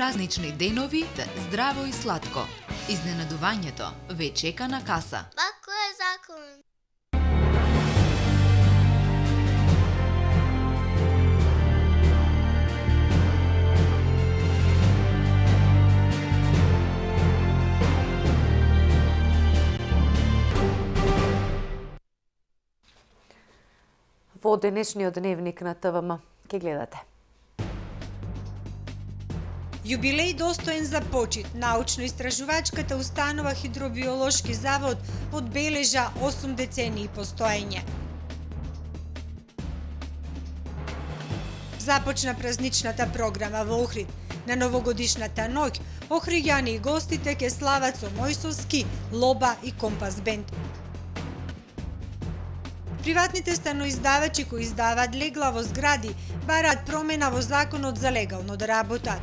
празнични денови, здраво и сладко. Изненадувањето ве чека на каса. Бако е закон. Во денешниот дневник на ТВМ ке гледате. Јубилеј достоен за почит. Научно-истражувачката установа Хидробиолошки завод одбележа 8 децении постоење. Започна празничната програма во Охрид. На новогодишната ноќ охриѓани и гостите ке слават со Мојсовски, Лоба и Компас бенд. Приватните станоиздавачи кои издаваат легла во згради бараат промена во законот за легално да работат.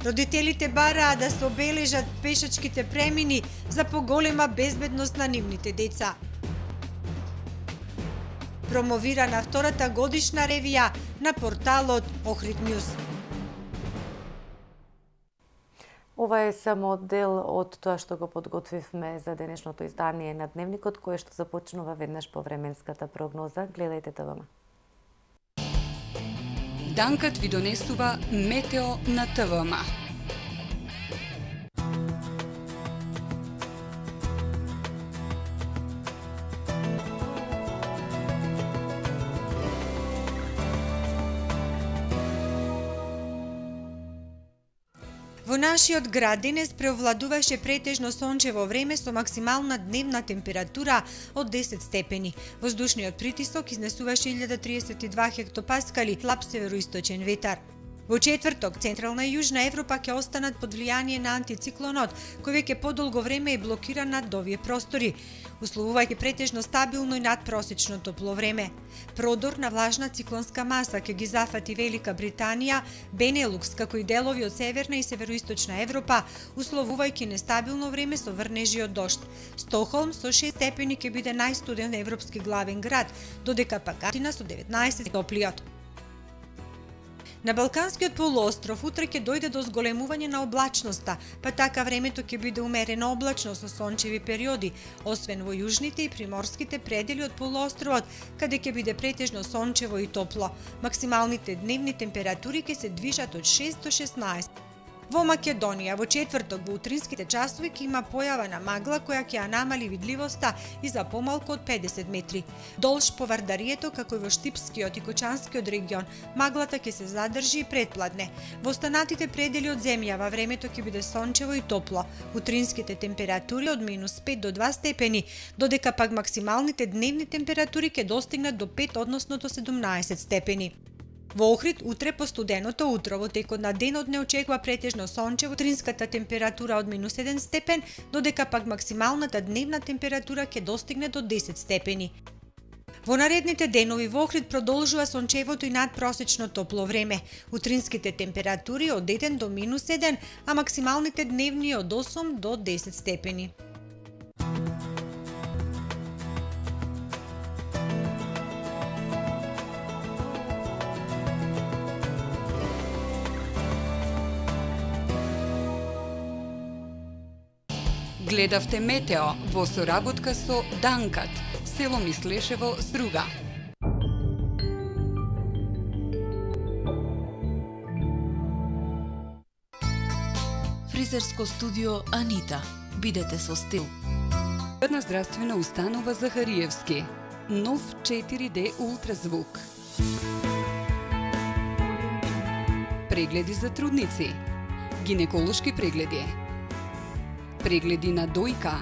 Родителите бараат да се обележат пешачките премини за поголема безбедност на нивните деца. Промовирана втората годишна ревија на порталот Охрид Нјуз. Ова е само дел од тоа што го подготвивме за денешното издание на Дневникот, кое што започнува веднаш по временската прогноза. Гледајте ТВМ. Данкат ви донесува метео на ТВМ. Во нашиот град денес преовладуваше претежно сончево време со максимална дневна температура од 10 степени. Воздушниот притисок изнесуваше 1032 хектопаскали, слаб североисточен ветар. Во четврток, Централна и Јужна Европа ќе останат под влијание на антициклонот, кој веќе подолго време е блокиран над овие простори, условувајќи претежно стабилно и надпросечно топло време. Продор на влажна циклонска маса ќе ги зафати Велика Британија, Бенелукс, како и делови од Северна и Североисточна Европа, условувајќи нестабилно време со врнежи од дожд. Стокхолм со 6 степени ќе биде најстуден европски главен град, додека пак Атина со 19 топлиот. На Балканскиот полуостров утре ќе дојде до зголемување на облачноста, па така времето ќе биде умерено облачно со сончеви периоди, освен во јужните и приморските предели од полуостровот, каде ќе биде претежно сончево и топло. Максималните дневни температури ќе се движат од 6 до 16. Во Македонија во четврток во утринските часови ќе има појава на магла која ќе ја намали видливоста и за помалку од 50 метри. Долж по Вардарието, како и во Штипскиот и Кочанскиот регион, маглата ќе се задржи и претпладне. Во останатите предели од земјава времето ќе биде сончево и топло. Утринските температури од -5 до 2 степени, додека пак максималните дневни температури ќе достигнат до 5, односно до 17 степени. Во Охрид утре по студеното утро во текот на денот не очекува претежно сончево, утринската температура од -1 степен, додека пак максималната дневна температура ќе достигне до 10 степени. Во наредните денови во Охрид продолжува сончевото и надпросечно топло време. Утринските температури од 1 до -1, а максималните дневни од 8 до 10 степени. Гледавте метео во соработка со Данкат, село Мислешево, Струга. Фризерско студио Анита. Бидете со стил. Една здравствена установа Захариевски. Нов 4D ултразвук. Прегледи за трудници. Гинеколошки прегледи. Прегледи на дојка,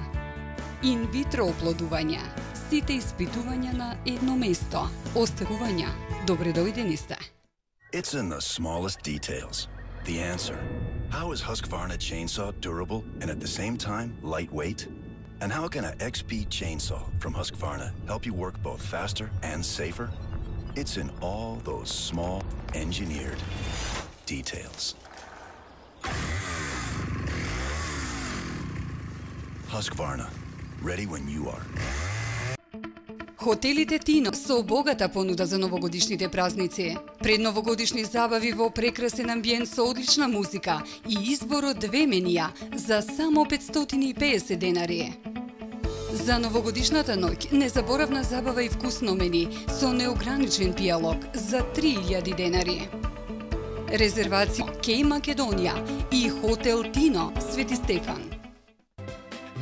инвитро оплодувања, сите испитувања на едно место, остарувања. Добре дојдени сте. It's in the smallest details. The answer. How is Husqvarna chainsaw durable and at the same time lightweight? And how can an XP chainsaw from Husqvarna help you work both faster and safer? It's in all those small engineered details. Husqvarna, ready when you are. Хотелите Тино со богата понуда за новогодишните празници. Предновогодишни забави во прекрасен амбиент со одлична музика и избор од 2 менија за само 550 денари. За новогодишната ноќ незаборавна забава и вкусно мени со неограничен пијалог за 3000 денари. Резервација Кеј Македонија и Хотел Тино Свети Стефан.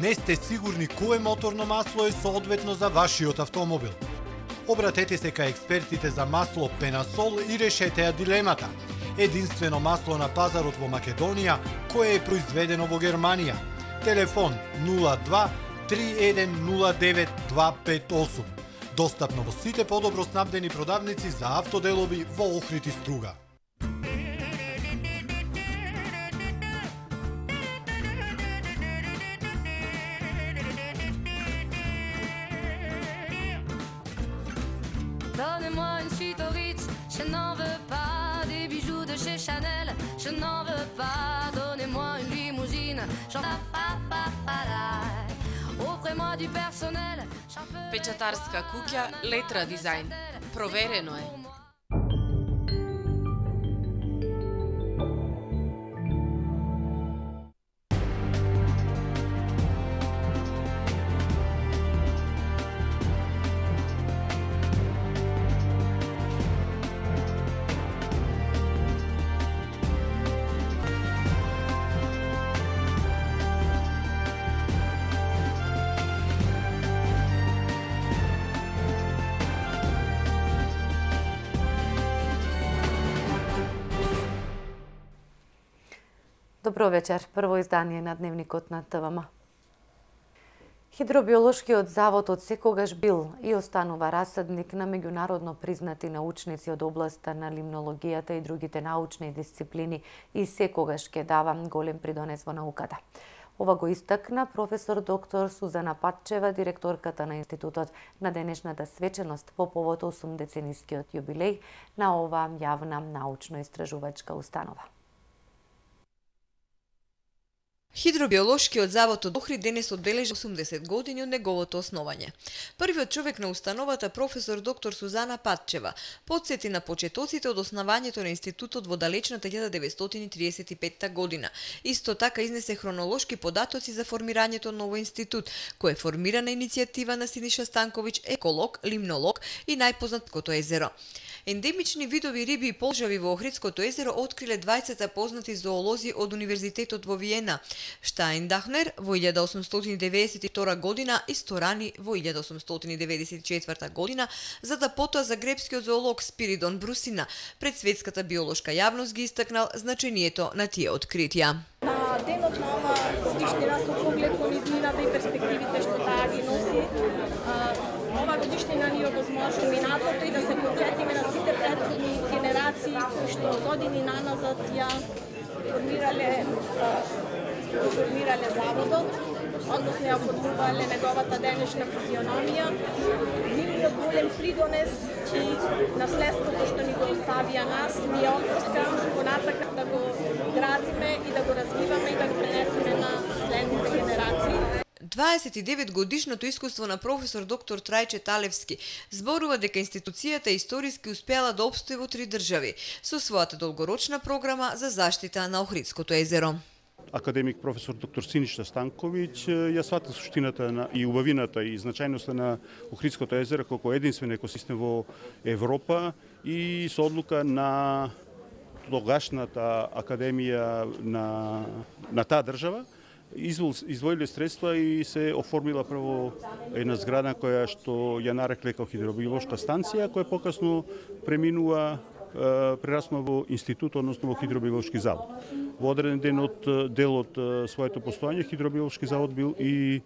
Не сте сигурни кое моторно масло е соодветно за вашиот автомобил? Обратете се кај експертите за масло Пенасол и решете ја дилемата. Единствено масло на пазарот во Македонија кое е произведено во Германија. Телефон 02 3109 258. Достапно во сите подобро снабдени продавници за автоделови во Охрид и Струга. Donnez-moi une suite au Ritz, je n'en veux pas des bijoux de chez Chanel, je n'en veux pas. Donnez-moi une limousine, j'en offrez-moi du personnel. Печатарска куќа Летра дизајн. Проверено е. Добро вечер. Прво издание на Дневникот на ТВМ. Хидробиолошкиот завод од секогаш бил и останува расадник на меѓународно признати научници од областа на лимнологијата и другите научни дисциплини и секогаш ќе дава голем придонес во науката. Ова го истакна професор доктор Сузана Патчева, директорката на институтот на денешната свеченост по повод 80-денискиот јубилеј на ова јавна научно-истражувачка установа. Хидробиолошкиот завод од Охрид денес одбележи 80 години од неговото основање. Првиот човек на установата, професор доктор Сузана Патчева, потсети на почетоците од основањето на институтот во далечната 1935 година. Исто така изнесе хронолошки податоци за формирањето на овој институт, кој е формирана иницијатива на Синиша Станковиќ, еколог, лимнолог и најпознатото езеро. Ендемични видови риби и полжави во Охридското езеро откриле 20 познати зоолози од Универзитетот во Виена, Штајндахнер во 1892 година и Сторани во 1894 година, за да потоа загребскиот зоолог Спиридон Брусина пред светската биолошка јавност ги истакнал значението на тие откритија. На денот на ова годишнина со поглед кон иднината и перспективите што таа ги носи, ова годишнина ни овозможува минатото и да се потсетиме на сите претходни генерации кои што години наназад ја формирале заводот, односно ја формувале неговата денешна физиономија. Нивниот голем придонес и наследството што ни го оставија нас, ни ја отпускам понатака да го градиме и да го развиваме и да го пренесеме на следните генерации. 29 годишното искуство на професор доктор Трајче Талевски зборува дека институцијата историски успеала да опстои во 3 држави со својата долгорочна програма за заштита на Охридското езеро. Академик професор доктор Синиша Станковиќ ја свата суштината и убавината и значајноста на Охридското езеро како единствен екосистем во Европа и со одлука на тогашната академија на таа држава издвоиле средства и се оформила прво една зграда која што ја нарекле како хидробиолошка станција, која покасно преминува прераснува во институт, односно во хидробиолошки завод. Во одреден дел од своето постојање хидробиолошки завод бил и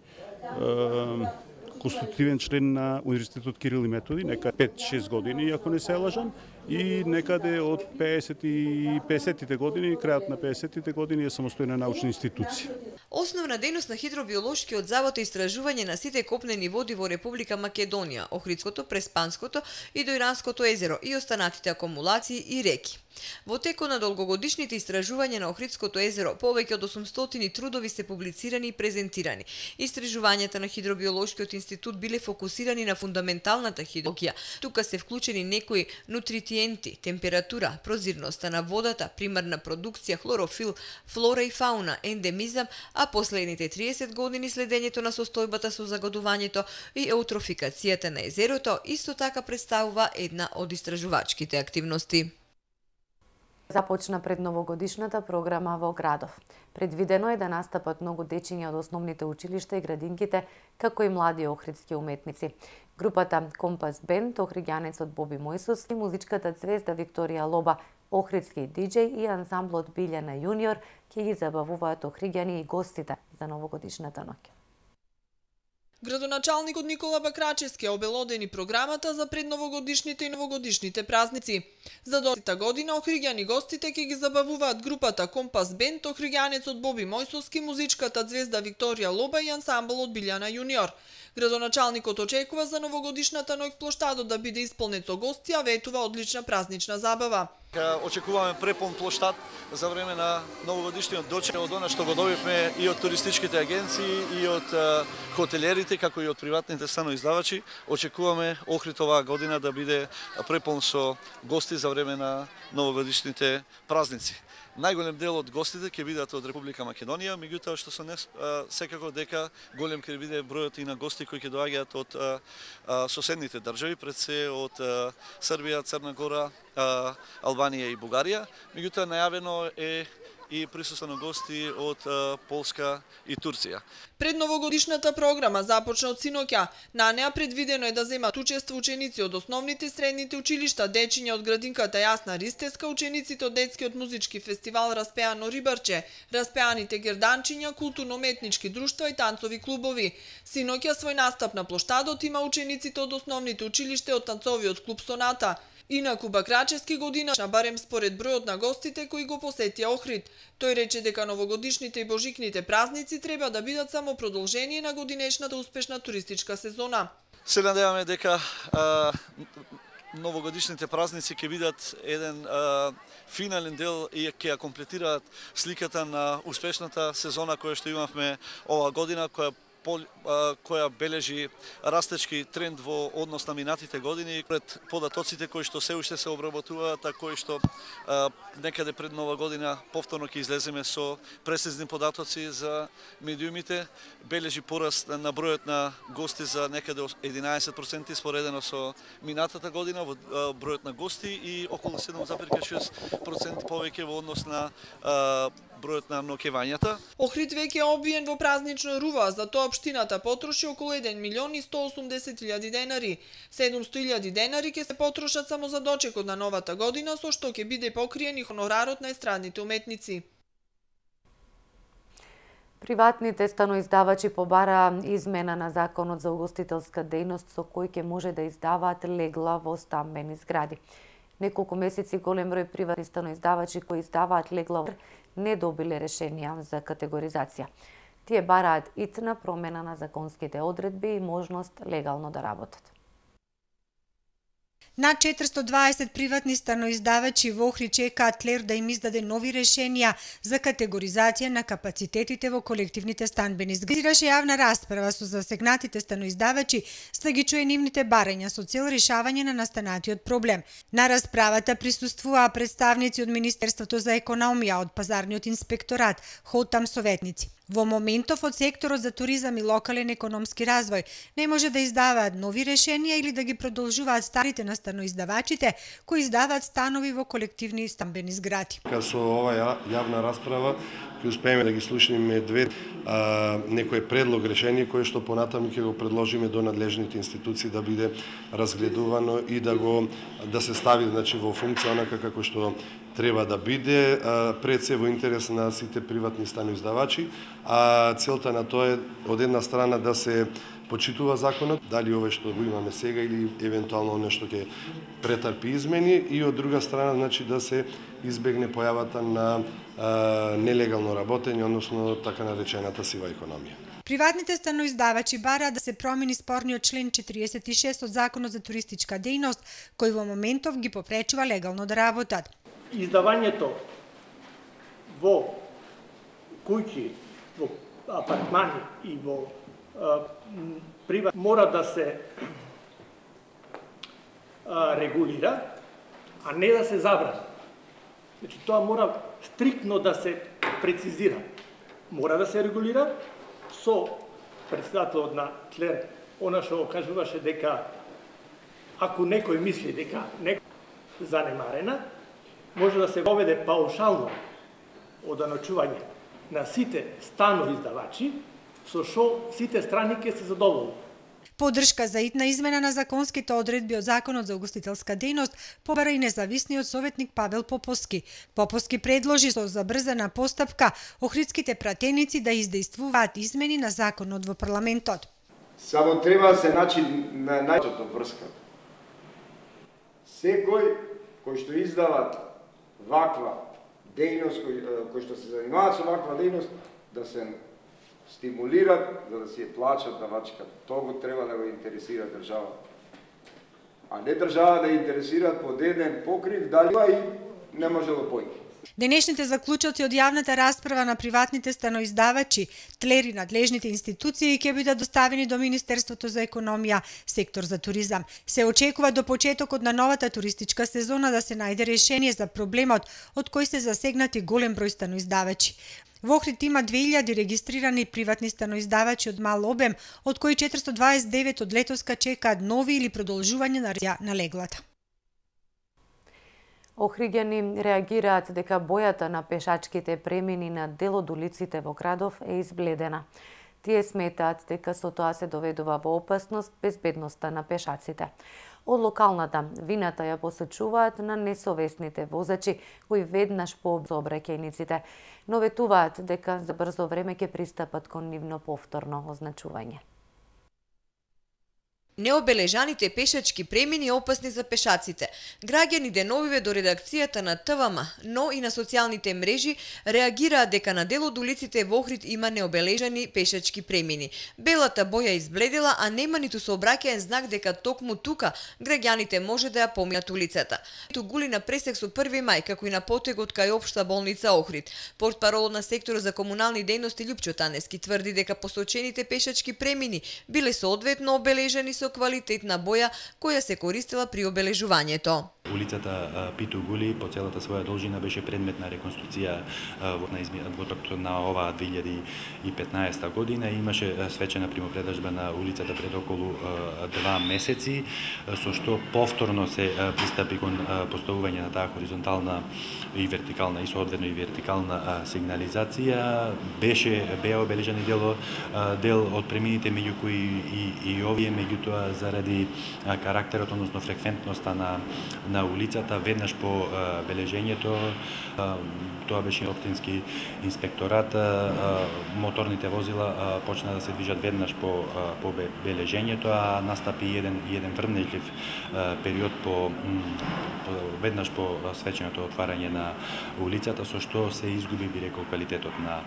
конститутивен член на Универзитетот Кирил и Методи, нека 5-6 години, ако не се лажам, и некаде од 50-тите години, крајот на 50-тите години е самостојна научна институција. Основна дејност на хидробиолошкиот завод е истражување на сите копнени води во Република Македонија, Охридското, Преспанското и Дојранското езеро и останатите акумулации и реки. Во текот на долгогодишните истражувања на Охридското езеро, повеќе од 800 трудови се публицирани и презентирани. Истражувањата на Хидробиолошкиот институт биле фокусирани на фундаменталната хидрологија. Тука се вклучени некои нутриенти, температура, прозирноста на водата, примарна продукција, хлорофил, флора и фауна, ендемизам, а последните 30 години следењето на состојбата со загадувањето и еутрофикацијата на езерото исто така представува една од истражувачките активности. Започна предновогодишната програма во градов. Предвидено е да настапат многу дечиња од основните училишта и градинките, како и млади охридски уметници. Групата Компас Бенд, охриѓанецот Боби Мојсовски, музичката звезда Викторија Лоба, охридски диџеј и ансамблот Билјана Јуниор ќе ги забавуваат охриѓани и гостите за новогодишната ноќ. Градоначалникот Никола Бакрачевски обелодени програмата за предновогодишните и новогодишните празници. За доците година охриѓани гостите ќе ги забавуваат групата Компас Бенд, охриѓанецот Боби Мојсовски, музичката звезда Викторија Лоба и ансамблот Билјана Јуниор. Градоначалникот очекува за новогодишната ноќ плоштадот да биде исполнет со гости, а ветува одлична празнична забава. Очекуваме препон плоштад за време на новогодишниот дочек од она што го добивме и од туристичките агенции и од хотелерите, како и од приватните станоиздавачи. Очекуваме Охрид оваа година да биде препон со гости за време на новогодишните празници. Најголем дел од гостите ќе бидат од Република Македонија, меѓутоа што се секако дека голем ќе биде бројот и на гости кои ќе доаѓаат од соседните држави, пред се од Србија, Црна Гора, Албанија и Бугарија. Меѓутоа најавено е и присуство на гости од Полска и Турција. Предновогодишната програма започна од синоќа. На неа предвидено е да земат учество ученици од основните и средните училишта, дечиња од градинката Јасна Ристеска, учениците од детскиот музички фестивал Распеано Рибарче, распеаните герданчиња, културно-уметнички друштва и танцови клубови. Синоќа свој настап на плоштадот има учениците од основните училишта од танцовиот клуб Соната. Инаку Бакрачевски година, барем според бројот на гостите кои го посетија Охрид. Тој рече дека новогодишните и божикните празници треба да бидат само продолжение на годинешната успешна туристичка сезона. Се надеваме дека новогодишните празници ќе бидат еден финален дел и ќе ја комплетираат сликата на успешната сезона која што имавме оваа година, која бележи растечки тренд во однос на минатите години, пред податоците кои што се уште се обработуваат, а кои што некаде пред нова година повторно ќе излеземе со прецизни податоци за медиумите, бележи пораст на бројот на гости за некаде 11% споредено со минатата година во бројот на гости и околу 7,6% повеќе во однос на бројот на ноќевањата. Охрид веќе е обвиен во празнично рува, за тоа општината потроши околу 1.180.000 денари. 700.000 денари ќе се потрошат само за дочекот на новата година, со што ќе биде покриен и хонорарот на естрадните уметници. Приватните станоиздавачи побараа измена на законот за угостителска дејност со кој ќе може да издаваат легла во стамбени згради. Неколку месеци голем број приватни станоиздавачи кои издаваат легла не добиле решенија за категоризација. Тие бараат итна промена на законските одредби и можност легално да работат. Над 420 приватни станоиздавачи во Охрид чекаат ЛЕР да им издаде нови решенија за категоризација на капацитетите во колективните станбени згради. Ираше јавна расправа со засегнатите станоиздавачи, за да ги чуе нивните барања со цел решавање на настанатиот проблем. На расправата присуствуваа представници од Министерството за економија, од Пазарниот инспекторат, ХОТАМ советници. Во моментов од секторот за туризам и локален економски развој не може да издаваат нови решенија или да ги продолжуваат старите на станоиздавачите кои издаваат станови во колективни стамбени згради. Со оваа јавна расправа ќе успееме да ги слушнеме некој предлог решение кој што понатаму ќе го предложиме до надлежните институции да биде разгледувано и да се стави во функција онака како што треба да биде, пред се во интерес на сите приватни станоиздавачи, а целта на тоа е од една страна да се почитува законот, дали овој што го имаме сега или евентуално нешто ќе претрпи измени, и од друга страна да се избегне појавата на нелегално работење, односно така наречената сива економија. Приватните станоиздавачи бараат да се промени спорниот член 46 од Законот за туристичка дејност, кој во моментов ги попречува легално да работат. издавањето во куќи, во апартмани и во приват мора да се регулира, а не да се забрани. Значи, тоа мора стриктно да се прецизира. Мора да се регулира со председателот на ТЛЕР, она што кажуваше дека ако некој мисли дека некој занемарена, може да се воведе паушално оданочување на сите станоиздавачи, со што сите страни ќе се задоволат. Поддршка за итна измена на законските одредби од Законот за угостителска дејност побара и независниот советник Павел Поповски. Поповски предложи со забрзана постапка охридските пратеници да издействуваат измени на законот во парламентот. Само треба да се најчи на најчото врска. Секој кој што издава ваква дејност, кој што се занимаваат со ваква дејност, да се стимулират за да си ја плачат давачката. Тоа го треба да го интересира држава. А не држава да интересира под еден покрив, дали и не може да појде. Денешните заклучоци од јавната расправа на приватните станоиздавачи, ТЛЕР и надлежните институции ќе бидат доставени до Министерството за економија, сектор за туризам. Се очекува до почетокот на новата туристичка сезона да се најде решение за проблемот од кој се засегнати голем број станоиздавачи. Во Охрид има 2000 регистрирани приватни станоиздавачи од мал обем, од кои 429 од летоска чекаат нови или продолжување на леглата. Охриѓани реагираат дека бојата на пешачките премини на дел од улиците во градов е избледена. Тие сметаат дека со тоа се доведува во опасност безбедноста на пешаците. Од локалната вината ја посочуваат на несовесните возачи кои веднаш по сообраќајниците, но ветуваат дека за брзо време ќе пристапат кон нивно повторно означување. Необележаните пешачки премини опасни за пешаците. Граѓани деновиве до редакцијата на ТВМ, но и на социјалните мрежи реагираат дека на дел од улиците во Охрид има необележани пешачки премини. Белата боја избледела, а нема ниту сообраќаен знак дека токму тука граѓаните може да ја поминат улицата. Ту гули на пресек со 1 мај, како и на потегот кај Општа болница Охрид. Портпаролот на секторот за комунални дејности Љупчо Танески тврди дека посочените пешачки премини биле соодветно обележани со квалитетна боја која се користела при обележувањето. Улицата Питу Гули по целата своја должина беше предмет на реконструкција во токот на оваа 2015 година и имаше свечена примопредажба на улицата пред околу 2 месеци, со што повторно се пристапи кон поставување на таа хоризонтална и вертикална и соодветно и вертикална сигнализација. Беа обележани дел од премините, меѓу кои и овие, меѓутоа заради карактерот, односно фреквентноста на улицата, веднаш по бележењето, тоа беше општински инспекторат, моторните возила почна да се движат веднаш по бележењето, а настапи еден врнежлив период веднаш по свеченото отварање на улицата, со што се изгуби, би рекол, квалитетот на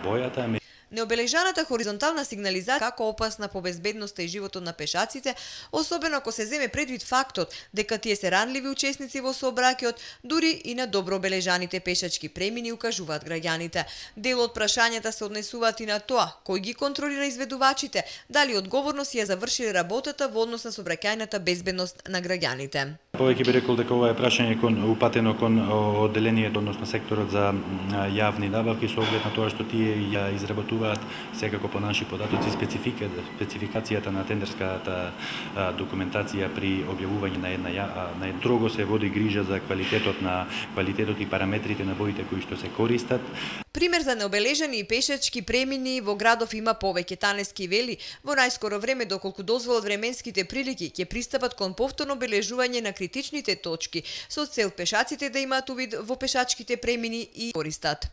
бојата. Необележаната хоризонтална сигнализација како опасна по безбедноста и животот на пешаците, особено ако се земе предвид фактот дека тие се ранливи учесници во сообраќајот, дури и на добро обележаните пешачки премини, укажуваат граѓаните. Дел од прашањата се однесуваат и на тоа кој ги контролира изведувачите, дали одговорно си ја завршиле работата во однос на сообраќајната безбедност на граѓаните. Повеќе би рекол дека ова е прашање упатено кон одделението, односно секторот за јавни набавки, со оглед на тоа што тие ја изработуваат секако по наши податоци спецификацијата на тендерската документација при објавување на една строго се води грижа за квалитетот и параметрите на боите кои што се користат. Пример за необележани пешачки премини во градов има повеќе. Танески вели, во најскоро време, доколку дозволат временските прилики, ќе пристапат кон повторно обележување на критичните точки, со цел пешаците да имаат увид во пешачките премини и користат.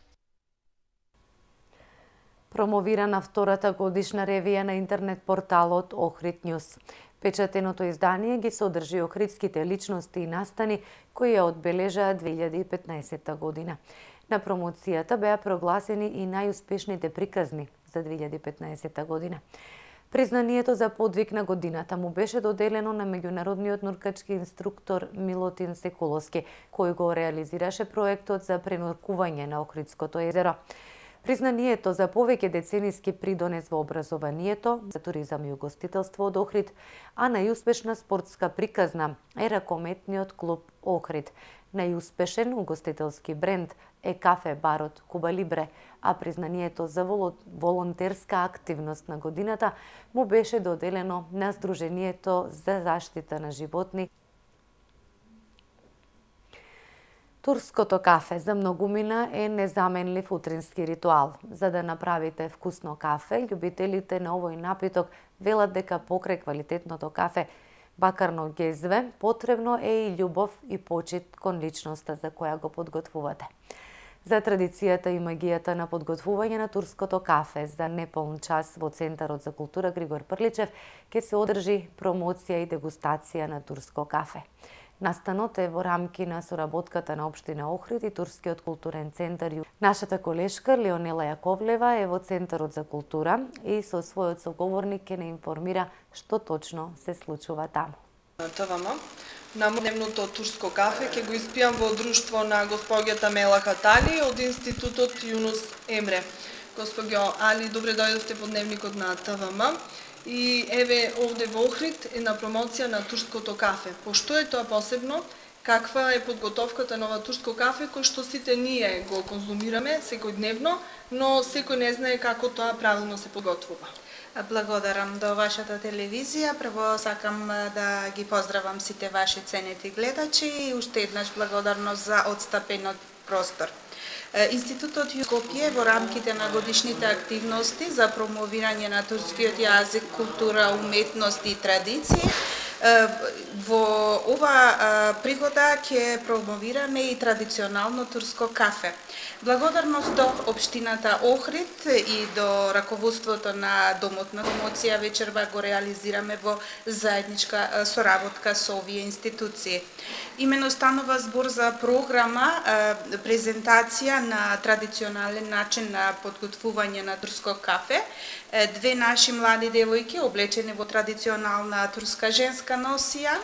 Промовирана втората годишна ревија на интернет порталот Охрид Нјус. Печатеното издание ги содржи охридските личности и настани кои ја одбележаа 2015 година. На промоцијата беа прогласени и најуспешните приказни за 2015 година. Признанието за подвиг на годината му беше доделено на меѓународниот нуркачки инструктор Милутин Секуловски, кој го реализираше проектот за пренуркување на Охридското езеро. Признанието за повеќе децениски придонес во образованието, за туризам и угостителство од Охрид, а најуспешна спортска приказна е ракометниот клуб Охрид. Најуспешен угостителски бренд е кафе барот Куба Либре, а признанието за волонтерска активност на годината му беше доделено на Сдружението за заштита на животни. Турското кафе за многумина е незаменлив утрински ритуал. За да направите вкусно кафе, љубителите на овој напиток велат дека покрај квалитетното кафе, бакарно гезве, потребно е и љубов и почит кон личноста за која го подготвувате. За традицијата и магијата на подготвување на турското кафе за неполн час во Центарот за култура Григор Прличев ќе се одржи промоција и дегустација на турско кафе. Настанот е во рамки на соработката на Општина Охрид и Турскиот културен центар. Нашата колешка Леонела Јаковлева е во Центарот за култура и со својот соговорник ќе не информира што точно се случува таму. ТВМ. На дневното турско кафе ќе го испијам во друштво на госпоѓата Мела Хатали од Институтот Јунус Емре. Госпоѓо Али, добре дојдовте во дневникот на ТВМ. И еве овде во Охрид е на промоција на турското кафе. Пошто е тоа посебно? Каква е подготовката на ова турско кафе кој што сите ние го конзумираме секојдневно, но секој не знае како тоа правилно се подготвува. Благодарам до вашата телевизија. Прво сакам да ги поздравам сите ваши ценети гледачи и уште еднаш благодарност за отстапенот простор. Институтот Скопје во рамките на годишните активности за промовирање на турскиот јазик, култура, уметност и традиции, во ова пригода ќе промовираме и традиционално турско кафе. Благодарност до Општината Охрид и до раководството на Домот на промоција вечерва го реализираме во заедничка соработка со овие институции. Имено станува збор за програма презентација на традиционален начин на подготвување на турско кафе. Две наши млади девојки облечени во традиционална турска женска носија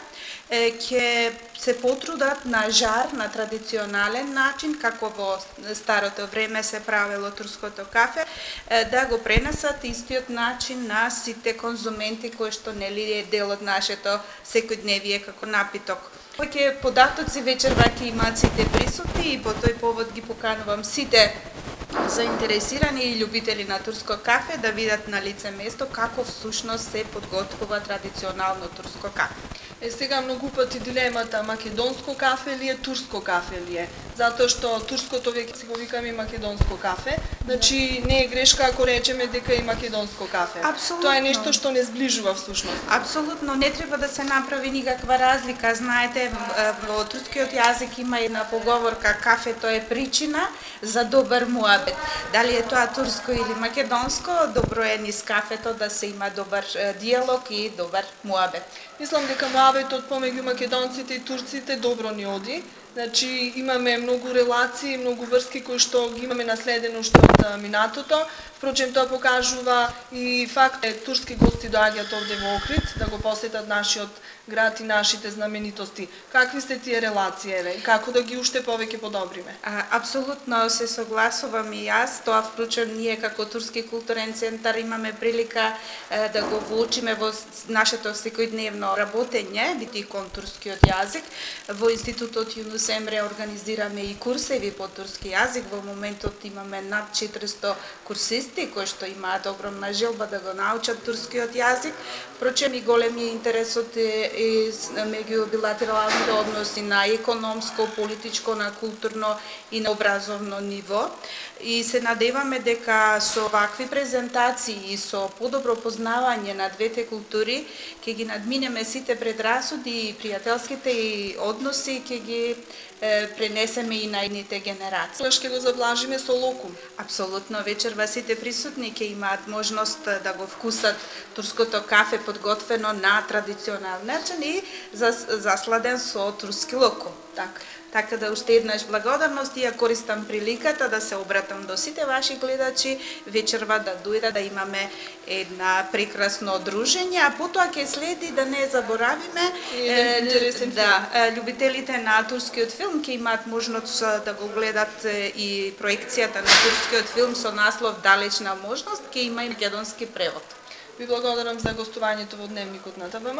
ќе се потрудат на жар на традиционален начин, како во старото време се правело турското кафе, да го пренесат истиот начин на сите конзументи кои што нели е дел од нашето секојдневие како напиток. Повеќе податоци вечерва ќе имаат сите присутни и по тој повод ги поканувам сите заинтересирани и љубители на турско кафе да видат на лице место како всушност се подготвува традиционално турско кафе. Сега многу пати дилемата македонско кафе ли е, турско кафе ли е? Затоа што турското веќе си го викаме македонско кафе, значи не е грешка ако речеме дека е македонско кафе. Абсолютно. Тоа е нешто што не зближува всушност. Апсолутно, не треба да се направи никаква разлика. Знаете, во турскиот јазик има една поговорка кафето е причина за добар муабет. Дали е тоа турско или македонско, добро е низ кафето да се има добар диалог и добар муабет. Мислам дека муабетот помеѓу македонците и турците добро ни оди. Значи имаме многу релации, многу врски кои што ги имаме наследено уште од минатото. Впрочем, тоа покажува и факт турски гости доаѓаат овде во Охрид да го посетат нашиот град и нашите знаменитости. Какви се тие релации, еве, и како да ги уште повеќе подобриме? Апсолутно се согласувам и јас. Тоа впрочем ние како Турски културен центар имаме прилика да го воочиме во нашето секојдневно работење, бити кон турскиот јазик. Во Институтот Јунус Емре организираме и курсеви по турски јазик. Во моментот имаме над 400 курсисти кои што имаат огромна желба да го научат турскиот јазик. Впрочем и големи интересот и меѓу билатералните односи на економско, политичко, на културно и на образовно ниво. И се надеваме дека со вакви презентации и со подобро познавање на двете култури ќе ги надминеме сите предрасуди и пријателските и односи, ќе ги пренесеме и на идните генерации. Ќе го заблажиме со локум. Апсолутно, вечерва сите присутни ќе имаат можност да го вкусат турското кафе подготвено на традиционален начин и засладен со турски локум. Так. Така да уште еднаш благодарност и ја користам приликата да се обратам до сите ваши гледачи вечерва да дојдат да имаме една прекрасно дружење, а потоа ќе следи да не заборавиме љубителите на турскиот филм ќе имаат можност да го гледат и проекцијата на турскиот филм со наслов Далечна можност, ќе има и македонски превод. Ви благодарам за гостувањето во Дневникот на ТВМ.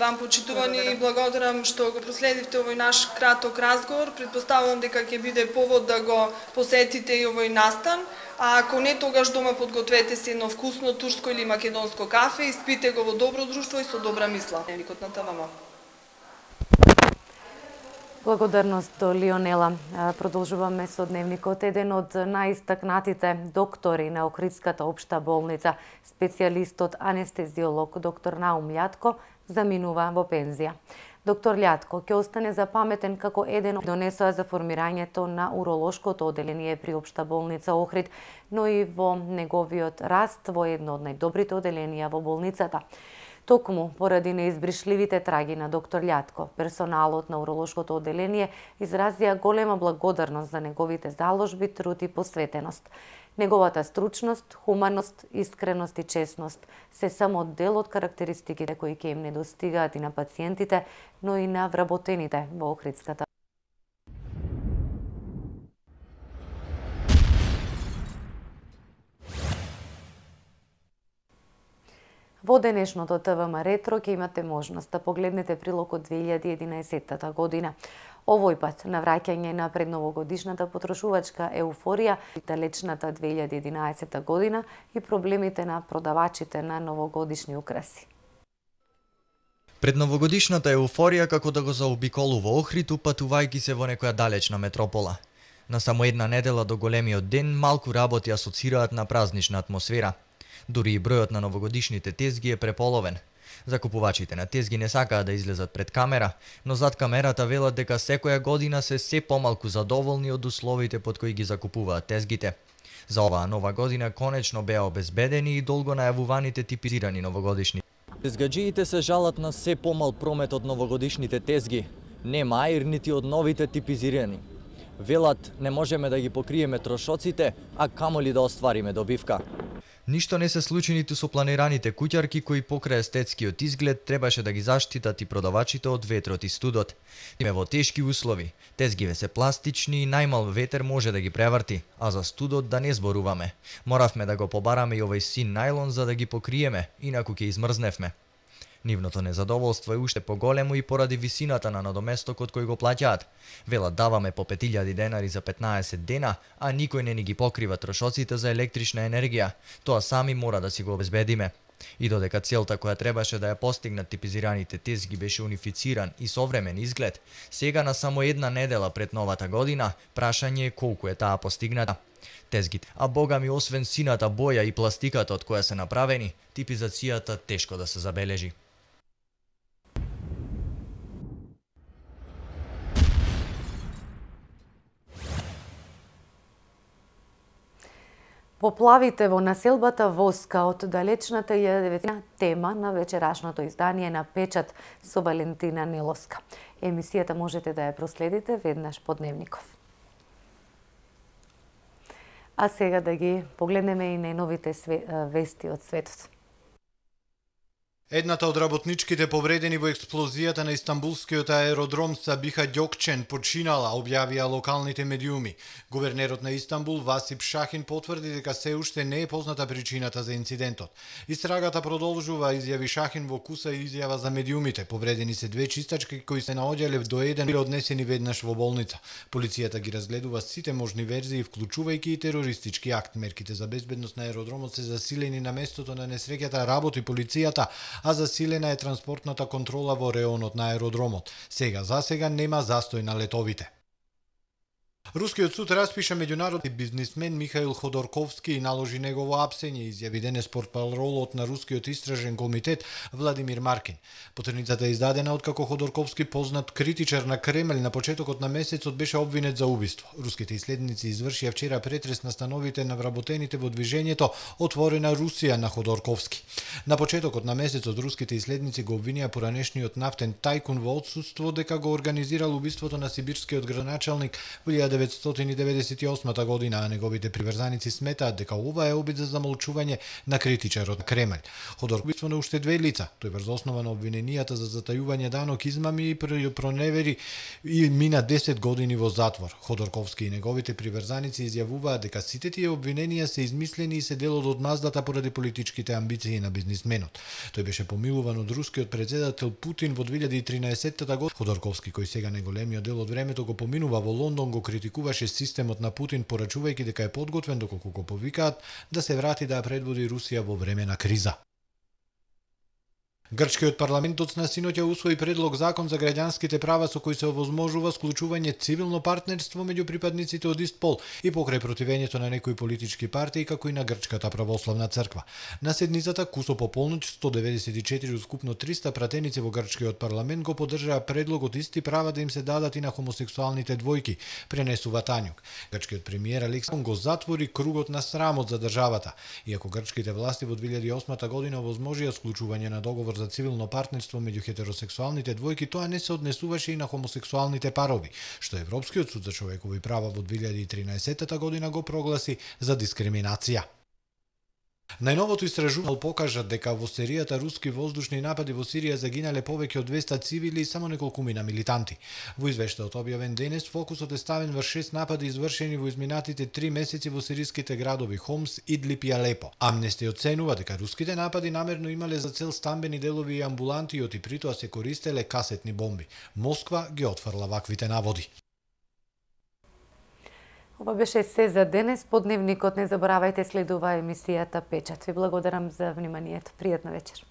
Вам, почитувани, благодарам што го проследивте овој наш краток разговор. Предпоставувам дека ќе биде повод да го посетите и овој настан. А ако не, тогаш дома подгответе се едно вкусно турско или македонско кафе и спите го во добро друштво и со добра мисла. Дневникот на ТВМ. Благодарност до Лионела. Продолжуваме со Дневникот. Еден од најистакнатите доктори на Охридската општа болница, специјалистот анестезиолог доктор Наум Лјатко, заминува во пензија. Доктор Лјатко ќе остане запаметен како еден од донесоа за формирањето на уролошкото оделение при општа болница Охрид, но и во неговиот раст во едно од најдобрите оделенија во болницата. Токму поради неизбришливите траги на доктор Лјатко, персоналот на уролошкото оделение изразија голема благодарност за неговите заложби, труд и посветеност. Неговата стручност, хуманост, искреност и честност се само дел од карактеристиките кои ќе им недостигаат и на пациентите, но и на вработените во Охридската. Во денешното ТВМ Ретро ќе имате можност да погледнете прилог од 2011 година. Овој пат на враќање на предновогодишната потрошувачка еуфорија, далечната 2011 година и проблемите на продавачите на новогодишни украси. Предновогодишната еуфорија како да го заобиколува Охрид, упатувајќи се во некоја далечна метропола. На само една недела до големиот ден малку работи асоцираат на празнична атмосфера. Дури и бројот на новогодишните тезги е преполовен. Закупувачите на тезги не сакаат да излезат пред камера, но зад камерата велат дека секоја година се помалку задоволни од условите под кои ги закупуваат тезгите. За оваа нова година конечно беа обезбедени и долго најавуваните типизирани новогодишни. Тезгаджиите се жалат на се помал промет од новогодишните тезги, нема аир нити од новите типизирани. Велат не можеме да ги покриеме трошоците, а камоли да оствариме добивка. Ништо не се случи ниту со планираните куќарки кои покрај естетскиот изглед требаше да ги заштитат и продавачите од ветрот и студот. Име во тешки услови, тезгиве се пластични и најмал ветер може да ги преврти, а за студот да не зборуваме. Моравме да го побараме и овој син најлон за да ги покриеме, инаку ќе измрзневме. Нивното незадоволство е уште поголемо и поради висината на надоместокот кој го плаќаат. Велат даваме по 5000 денари за 15 дена, а никој не ни ги покрива трошоците за електрична енергија. Тоа сами мора да си го обезбедиме. И додека целта која требаше да ја постигнат типизираните тезги беше унифициран и современ изглед, сега на само една недела пред новата година, прашање е колку е таа постигната. Тезгите, а бога ми освен сината боја и пластиката од која се направени, типизацијата тешко да се забележи. Поплавите во населбата Воска од далечната 19 тема на вечерашното издание на Печат со Валентина Неловска. Емисијата можете да ја проследите веднаш по Дневников. А сега да ги погледнеме и најновите вести од светот. Едната од работничките повредени во експлозијата на Истанбулскиот аеродром Сабиха Ѓокчен починала, објавија локалните медиуми. Гувернерот на Истанбул Васип Шахин потврди дека се уште не е позната причината за инцидентот. Истрагата продолжува, изјави Шахин во куса и изјава за медиумите. Повредени се две чистачки кои се наоѓале до еден и однесени веднаш во болница. Полицијата ги разгледува сите можни верзии, вклучувајќи и терористички акт. Мерките за безбедност на аеродромот се засилени на местото на несреќата, работи полицијата, а засилена е транспортната контрола во реонот на аеродромот. За сега нема застој на летовите. Рускиот суд распиша меѓународни бизнисмен Михаил Ходорковски и наложи негово апсење, изјави денес портпаролот на Рускиот истражен комитет Владимир Маркин. Потерницата е издадена откако Ходорковски, познат критичар на Кремљ, на почетокот на месецот беше обвинет за убиство. Руските исследници извршија вчера претрес на становите на вработените во движењето Отворена Русија на Ходорковски. На почетокот на месецот руските исследници го обвинија поранешниот нафтен тајкун во отсуство дека го организирал убиството на сибирскиот градоначалник во 1998 година, а неговите приврзаници сметаат дека ова е обид за замолчување на критичарот на Кремљ. Ходорковски на уште две лица. Тој врз основа на обвиненијата за затајување данок, измами и проневери и мина 10 години во затвор. Ходорковски и неговите приврзаници изјавуваат дека сите тие обвиненија се измислени и се дел од одмаздата поради политичките амбиции на бизнисменот. Тој беше помилуван од рускиот председател Путин во 2013 година. Ходорковски, кој сега најголемиот дел од времето го поминува во Лондон, го критикуваше системот на Путин, порачувајќи дека е подготвен, доколку го повикаат да се врати да ја предводи Русија во време на криза. Грчкиот парламент доцна синоќа усвои предлог закон за граѓанските права со кој се овозможува склучување цивилно партнерство меѓу припадниците од ист пол и покрај противењето на некои политички партии, како и на Грчката православна црква. На седницата кусо по полноќ 194 од скупно 300 пратеници во грчкиот парламент го поддржаа предлогот исти права да им се дадат и на хомосексуалните двојки, пренесува Тањук. Грчкиот премиер Александр го затвори кругот на срамот за државата, иако грчките власти во 2008 година овозможија склучување на договор за цивилно партнерство меѓу хетеросексуалните двојки, тоа не се однесуваше и на хомосексуалните парови, што Европскиот суд за човекови права во 2013 година го прогласи за дискриминација. Најновото истражување покажа дека во серијата руски воздушни напади во Сирија загинале повеќе од 200 цивили и само неколкумина милитанти. Во извештајот објавен денес, фокусот е ставен врз 6 напади извршени во изминатите 3 месеци во сириските градови Хомс, Идлип и Алепо. Амнести оценува дека руските напади намерно имале за цел стамбени делови и амбуланти и притоа се користеле касетни бомби. Москва ги отфрла ваквите наводи. Ова беше се за денес. По дневникот не заборавајте, следува емисијата Печат. Ви благодарам за вниманието. Пријатна вечер.